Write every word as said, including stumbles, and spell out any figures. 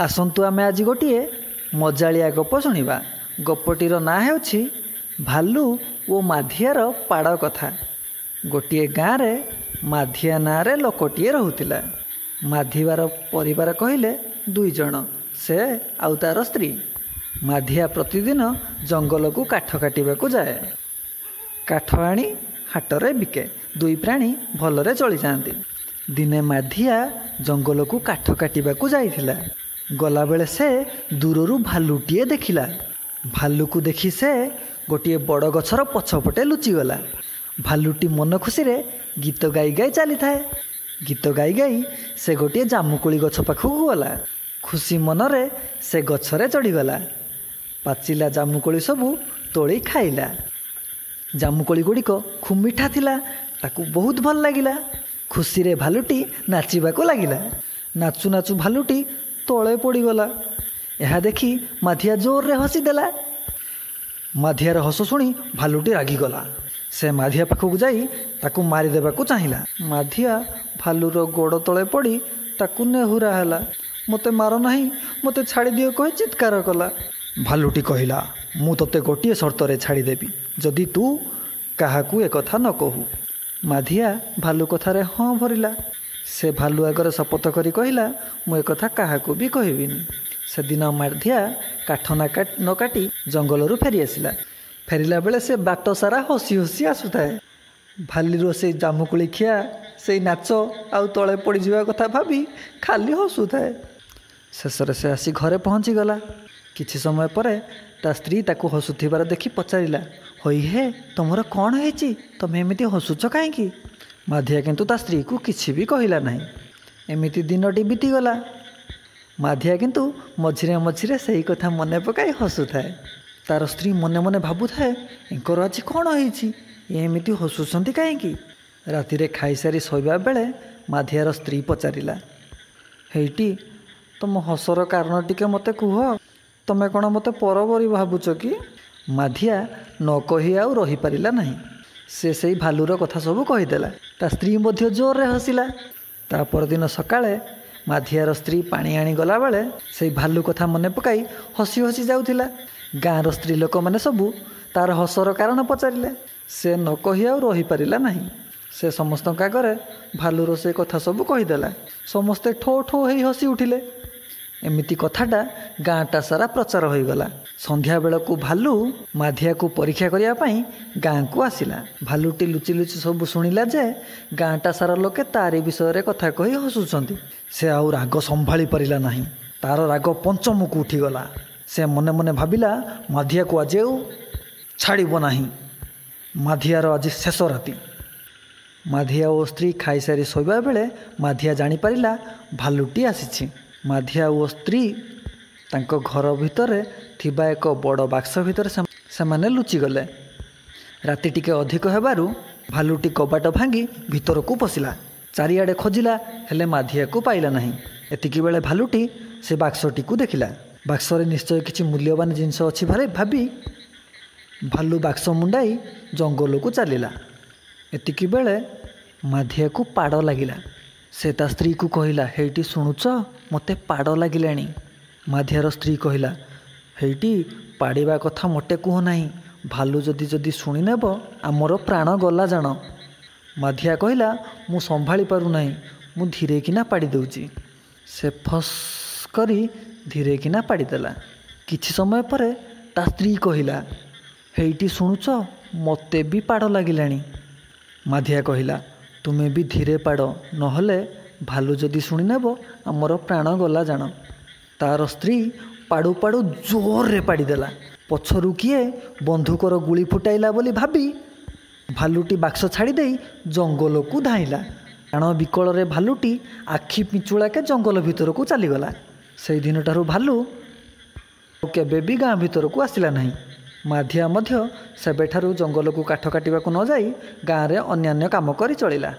ଆସନ୍ତୁ ଆମେ ଆଜି ଗୋଟିଏ ମଜାଳିଆ ଗପ ଶୁଣିବା। ଗପଟିର ନାଁ ହେଉଛି ଭାଲୁ ଓ ମାଧିଆର ପାଡ଼ କଥା। ଗୋଟିଏ ଗାଁରେ ମାଧିଆ ନାଁରେ ଲୋକଟିଏ ରହୁଥିଲା। ମାଧିବାର ପରିବାର କହିଲେ ଦୁଇ ଜଣ, ସେ ଆଉ ତାର ସ୍ତ୍ରୀ। ମାଧିଆ ପ୍ରତିଦିନ ଜଙ୍ଗଲକୁ କାଠ କାଟିବାକୁ ଯାଏ। କାଠ ଆଣି ହାଟରେ ବିକେ। ଦୁଇ ପ୍ରାଣୀ ଭଲରେ ଚଳିଯାଆନ୍ତି। ଦିନେ ମାଧିଆ ଜଙ୍ଗଲକୁ କାଠ କାଟିବାକୁ ଯାଇଥିଲା। ଗଲାବେଳେ ସେ ଦୂରରୁ ଭାଲୁଟିଏ ଦେଖିଲା। ଭାଲୁକୁ ଦେଖି ସେ ଗୋଟିଏ ବଡ଼ ଗଛର ପଛପଟେ ଲୁଚିଗଲା। ଭାଲୁଟି ମନ ଖୁସିରେ ଗୀତ ଗାଇ ଗାଇ ଚାଲିଥାଏ। ଗୀତ ଗାଇ ଗାଇ ସେ ଗୋଟିଏ ଜାମୁକୋଳି ଗଛ ପାଖକୁ ଗଲା। ଖୁସି ମନରେ ସେ ଗଛରେ ଚଢ଼ିଗଲା। ପାଚିଲା ଜାମୁକୋଳି ସବୁ ତୋଳି ଖାଇଲା। ଜାମୁକୋଳି ଗୁଡ଼ିକ ଖୁବ୍ ମିଠା ଥିଲା, ତାକୁ ବହୁତ ଭଲ ଲାଗିଲା। ଖୁସିରେ ଭାଲୁଟି ନାଚିବାକୁ ଲାଗିଲା। ନାଚୁ ନାଚୁ ଭାଲୁଟି ତଳେ ପଡ଼ିଗଲା। ଏହା ଦେଖି ମାଧିଆ ଜୋରରେ ହସିଦେଲା। ମାଧିଆର ହସ ଶୁଣି ଭାଲୁଟି ରାଗିଗଲା। ସେ ମାଧିଆ ପାଖକୁ ଯାଇ ତାକୁ ମାରିଦେବାକୁ ଚାହିଁଲା। ମାଧିଆ ଭାଲୁର ଗୋଡ଼ ତଳେ ପଡ଼ି ତାକୁ ନେହୁରା ହେଲା। ମୋତେ ମାର ନାହିଁ, ମୋତେ ଛାଡ଼ିଦିଅ କହି ଚିତ୍କାର କଲା। ଭାଲୁଟି କହିଲା, ମୁଁ ତୋତେ ଗୋଟିଏ ସର୍ତ୍ତରେ ଛାଡ଼ିଦେବି, ଯଦି ତୁ କାହାକୁ ଏକଥା ନ କହୁ। ମାଧିଆ ଭାଲୁ କଥାରେ ହଁ ଭରିଲା। ସେ ଭାଲୁ ଆଗରେ ଶପଥ କରି କହିଲା, ମୁଁ ଏକଥା କାହାକୁ ବି କହିବିନି। ସେଦିନ ମାଧିଆ କାଠ ନ କାଟି ଜଙ୍ଗଲରୁ ଫେରିଆସିଲା। ଫେରିଲା ବେଳେ ସେ ବାଟ ସାରା ହସି ହସି ଆସୁଥାଏ। ଭାଲିର ସେଇ ଜାମୁକୋଳି ଖିଆ, ସେଇ ନାଚ ଆଉ ତଳେ ପଡ଼ିଯିବା କଥା ଭାବି ଖାଲି ହସୁଥାଏ। ଶେଷରେ ସେ ଆସି ଘରେ ପହଞ୍ଚିଗଲା। କିଛି ସମୟ ପରେ ତା ସ୍ତ୍ରୀ ତାକୁ ହସୁଥିବାର ଦେଖି ପଚାରିଲା, ହଇ ହେ, ତୁମର କ'ଣ ହେଇଛି? ତମେ ଏମିତି ହସୁଛ କାହିଁକି? ମାଧିଆ କିନ୍ତୁ ତା ସ୍ତ୍ରୀକୁ କିଛି ବି କହିଲା ନାହିଁ। ଏମିତି ଦିନଟି ବିତିଗଲା। ମାଧିଆ କିନ୍ତୁ ମଝିରେ ମଝିରେ ସେହି କଥା ମନେ ପକାଇ ହସୁଥାଏ। ତାର ସ୍ତ୍ରୀ ମନେ ମନେ ଭାବୁଥାଏ, ଏଙ୍କର ଆଜି କ'ଣ ହେଇଛି, ଏମିତି ହସୁଛନ୍ତି କାହିଁକି? ରାତିରେ ଖାଇସାରି ଶୋଇବା ବେଳେ ମାଧିଆର ସ୍ତ୍ରୀ ପଚାରିଲା, ହେଇଟି, ତୁମ ହସର କାରଣ ଟିକେ ମୋତେ କୁହ। ତମେ କ'ଣ ମୋତେ ପର ପରି ଭାବୁଛ କି? ମାଧିଆ ନ କହି ଆଉ ରହିପାରିଲା ନାହିଁ। ସେ ସେଇ ଭାଲୁର କଥା ସବୁ କହିଦେଲା। ତା ସ୍ତ୍ରୀ ମଧ୍ୟ ଜୋରରେ ହସିଲା। ତା ପରଦିନ ସକାଳେ ମାଧିଆର ସ୍ତ୍ରୀ ପାଣି ଆଣି ଗଲାବେଳେ ସେଇ ଭାଲୁ କଥା ମନେ ପକାଇ ହସି ହସି ଯାଉଥିଲା। ଗାଁର ସ୍ତ୍ରୀ ଲୋକମାନେ ସବୁ ତାର ହସର କାରଣ ପଚାରିଲେ। ସେ ନ କହି ଆଉ ରହିପାରିଲା ନାହିଁ। ସେ ସମସ୍ତଙ୍କ ଆଗରେ ଭାଲୁର ସେ କଥା ସବୁ କହିଦେଲା। ସମସ୍ତେ ଠୋ ଠୋ ହେଇ ହସି ଉଠିଲେ। ଏମିତି କଥାଟା ଗାଁଟା ସାରା ପ୍ରଚାର ହୋଇଗଲା। ସନ୍ଧ୍ୟାବେଳକୁ ଭାଲୁ ମାଧିଆକୁ ପରୀକ୍ଷା କରିବା ପାଇଁ ଗାଁକୁ ଆସିଲା। ଭାଲୁଟି ଲୁଚି ଲୁଚି ସବୁ ଶୁଣିଲା ଯେ ଗାଁଟା ସାରା ଲୋକେ ତାରି ବିଷୟରେ କଥା କହି ହସୁଛନ୍ତି। ସେ ଆଉ ରାଗ ସମ୍ଭାଳି ପାରିଲା ନାହିଁ। ତାର ରାଗ ପଞ୍ଚମକୁ ଉଠିଗଲା। ସେ ମନେ ମନେ ଭାବିଲା, ମାଧିଆକୁ ଆଜି ଆଉ ଛାଡ଼ିବ ନାହିଁ। ମାଧିଆର ଆଜି ଶେଷ ରାତି। ମାଧିଆ ଓ ସ୍ତ୍ରୀ ଖାଇସାରି ଶୋଇବା ବେଳେ ମାଧିଆ ଜାଣିପାରିଲା ଭାଲୁଟି ଆସିଛି। ମାଧିଆ ଓ ସ୍ତ୍ରୀ ତାଙ୍କ ଘର ଭିତରେ ଥିବା ଏକ ବଡ଼ ବାକ୍ସ ଭିତରେ ସେମାନେ ଲୁଚିଗଲେ। ରାତି ଟିକେ ଅଧିକ ହେବାରୁ ଭାଲୁଟି କବାଟ ଭାଙ୍ଗି ଭିତରକୁ ପଶିଲା। ଚାରିଆଡ଼େ ଖୋଜିଲା, ହେଲେ ମାଧିଆକୁ ପାଇଲା ନାହିଁ। ଏତିକି ବେଳେ ଭାଲୁଟି ସେ ବାକ୍ସଟିକୁ ଦେଖିଲା। ବାକ୍ସରେ ନିଶ୍ଚୟ କିଛି ମୂଲ୍ୟବାନ ଜିନିଷ ଅଛି ଭାରି ଭାବି ଭାଲୁ ବାକ୍ସ ମୁଣ୍ଡାଇ ଜଙ୍ଗଲକୁ ଚାଲିଲା। ଏତିକି ବେଳେ ମାଧିଆକୁ ପାଡ଼ ଲାଗିଲା। ସେ ତା ସ୍ତ୍ରୀକୁ କହିଲା, ହେଇଟି ଶୁଣୁଛ, ମୋତେ ପାଡ଼ ଲାଗିଲାଣି। ମାଧିଆର ସ୍ତ୍ରୀ କହିଲା, ହେଇଟି ପାଡ଼ିବା କଥା ମୋଟେ କୁହ ନାହିଁ, ଭାଲୁ ଯଦି ଯଦି ଶୁଣିନେବ ଆମର ପ୍ରାଣ ଗଲା ଜାଣ। ମାଧିଆ କହିଲା, ମୁଁ ସମ୍ଭାଳି ପାରୁନାହିଁ, ମୁଁ ଧୀରେକିନା ପାଡ଼ି ଦେଉଛି। ସେ ଫସ୍ କରି ଧୀରେକିନା ପାଡ଼ିଦେଲା। କିଛି ସମୟ ପରେ ତା ସ୍ତ୍ରୀ କହିଲା, ହେଇଟି ଶୁଣୁଛ, ମୋତେ ବି ପାଡ଼ ଲାଗିଲାଣି। ମାଧିଆ କହିଲା, ତୁମେ ବି ଧୀରେ ପାଡ଼, ନହେଲେ ଭାଲୁ ଯଦି ଶୁଣିନେବ ଆମର ପ୍ରାଣ ଗଲା ଜାଣ। ତାର ସ୍ତ୍ରୀ ପାଡ଼ୁ ପାଡ଼ୁ ଜୋରରେ ପାଡ଼ିଦେଲା। ପଛରୁ କିଏ ବନ୍ଧୁକର ଗୁଳି ଫୁଟାଇଲା ବୋଲି ଭାବି ଭାଲୁଟି ବାକ୍ସ ଛାଡ଼ିଦେଇ ଜଙ୍ଗଲକୁ ଧାଇଁଲା। ପ୍ରାଣ ବିକଳରେ ଭାଲୁଟି ଆଖି ପିଞ୍ଚୁଳାକେ ଜଙ୍ଗଲ ଭିତରକୁ ଚାଲିଗଲା। ସେଇଦିନଠାରୁ ଭାଲୁ କେବେ ବି ଗାଁ ଭିତରକୁ ଆସିଲା ନାହିଁ। ମାଧିଆ ମଧ୍ୟ ସେବେଠାରୁ ଜଙ୍ଗଲକୁ କାଠ କାଟିବାକୁ ନ ଯାଇ ଗାଁରେ ଅନ୍ୟାନ୍ୟ କାମ କରି ଚଳିଲା।